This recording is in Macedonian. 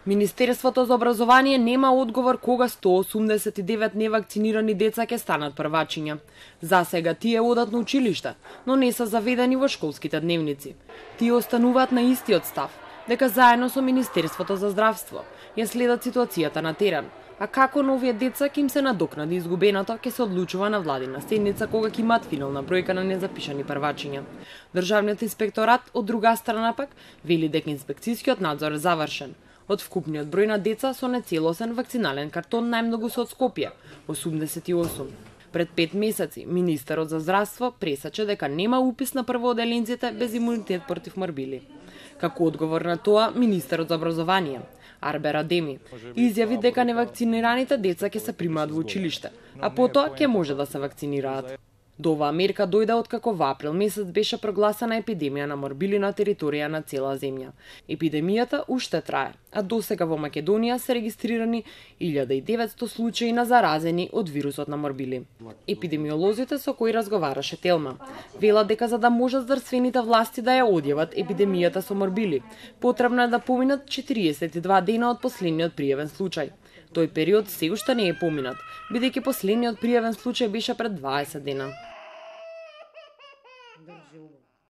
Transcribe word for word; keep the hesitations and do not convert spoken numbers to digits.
Министерството за образование нема одговор кога сто осумдесет и девет невакцинирани деца ќе станат првачиња. За сега тие одат на училиште, но не се заведени во школските дневници. Тие остануваат на истиот став, дека заедно со Министерството за здравство ја следат ситуацијата на терен, а како на овие деца ќе им се надокнади изгубеното ќе се одлучува на владина седница кога ќе имаат финална бројка на незапишани првачиња. Државниот инспекторат од друга страна пак вели дека инспекцијскиот надзор е завршен. Од вкупниот број на деца со нецелосен вакцинален картон најмногу се од Скопје – осумдесет и осум. Пред пет месеци министерот за здравство пресече дека нема упис на првооделенците без имунитет против морбили. Како одговор на тоа, министерот за образование Арбер Адеми изјави дека невакцинираните деца ќе се примаат во училиште, а потоа ќе може да се вакцинираат. До оваа мерка дојде откако во април месец беше прогласена епидемија на морбили на територија на цела земја. Епидемијата уште трае, а досега во Македонија се регистрирани илјада и деветсто случаи на заразени од вирусот на морбили. Епидемиолозите со кои разговараше Телма велат дека за да можат здравствените власти да ја одјават епидемијата со морбили, потребно е да поминат четириесет и два дена од последниот пријавен случај. Тој период се уште не е поминат, бидејќи последниот пријавен случај беше пред дваесет дена.